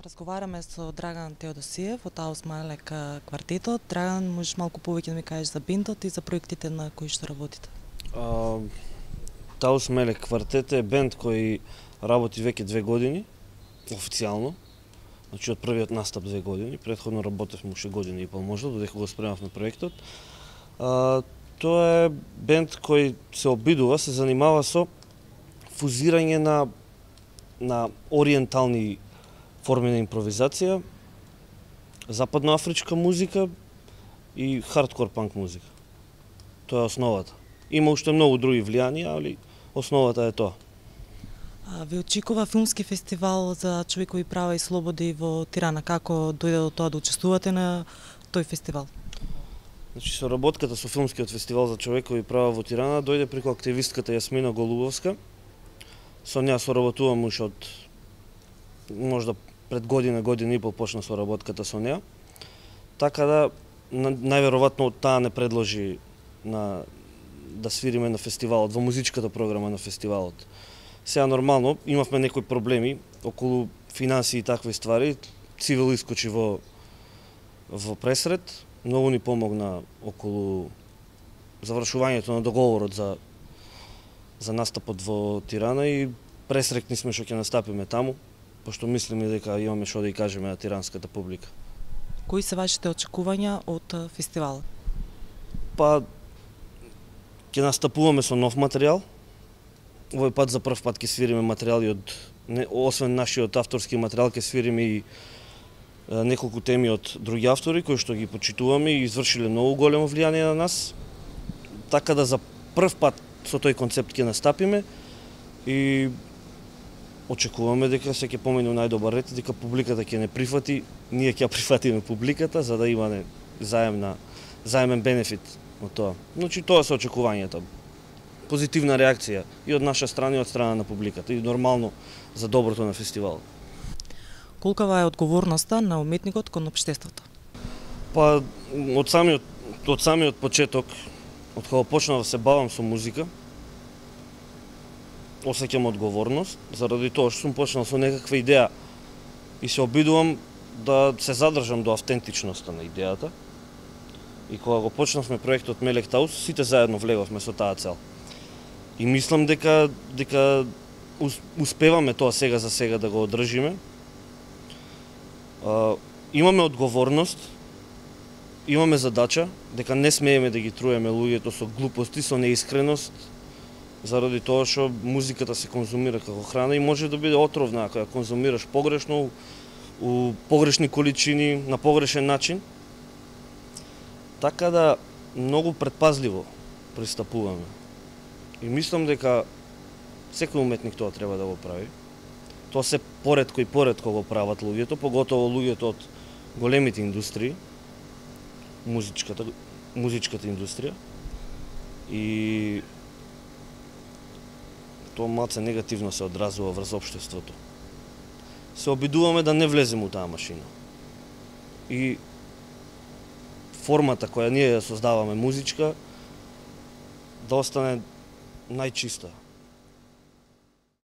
Разговараме со Драган Теодосиев од Аус Малек квартетот. Драган, можеш малку повеќе да ми кажеш за бендот и за проектите на кои што работите? Аус Малек квартет е бенд кој работи веќе 2 години, официјално. Значи од првиот настап 2 години, претходно работевме уште година и пол можда, додека го спремавме проектот. Тоа е бенд кој се обидува, се занимава со фузирање на ориентални форми на импровизација, западноафричка музика и хардкор панк музика. Тоа е основата. Има уште многу други влијанија, али основата е тоа. Ви очекува филмски фестивал за човекови права и слободи во Тирана. Како дојде до тоа да учествувате на тој фестивал? Значи, соработката со филмскиот фестивал за човекови права во Тирана дојде преку активистката Јасмина Голубовска. Со неа соработувам уште од можда пред година и пол почна соработката со неа. Така да најверојатно таа не предложи да свириме на фестивалот, во музичката програма на фестивалот. Сега нормално имавме некои проблеми околу финансии и такви ствари. Цивил искочи во пресред, многу ни помогна околу завршувањето на договорот за настапот во Тирана и пресрекни сме што ќе настапиме таму, пошто мислиме дека имаме што да и кажеме на тиранската публика. Кои се вашите очекувања од фестивалот? Па ќе настапуваме со нов материјал. Овој пат за прв пат ќе свириме материјали освен нашиот авторски материјал, ќе свириме и неколку теми од други автори кои што ги почитуваме и извршиле многу големо влијание на нас. Така да за прв пат со тој концепт ќе настапиме и очекуваме дека се ќе помине најдобар ред и дека публиката ќе не прифати, ние ќе прифатиме публиката за да има заемен бенефит од тоа. Значи тоа се очекувањата. Позитивна реакција и од наша страна и од страна на публиката и нормално за доброто на фестивалот. Колкава е одговорноста на уметникот кон општеството? Па од самиот почеток, од кога почнав да се бавам со музика, осеќам одговорност, заради тоа што сум почнал со некаква идеја и се обидувам да се задржам до автентичноста на идејата. И кога го почнавме проектот Малек Таус, сите заедно влеговме со таа цел. И мислам дека успеваме тоа сега за сега да го одржиме. Имаме одговорност, имаме задача, дека не смееме да ги труеме луѓето со глупости, со неискреност, заради тоа што музиката се конзумира како храна и може да биде отровна ако ја конзумираш погрешно, у погрешни количини, на погрешен начин. Така да многу предпазливо пристапуваме. И мислам дека секој уметник тоа треба да го прави. Тоа се поретко го прават луѓето, поготово луѓето од големите индустрии, музичката индустрија. И тоа малце негативно се одразува врз општеството. Се обидуваме да не влеземе у таа машина. И формата која ние ја создаваме музичка да остане најчиста.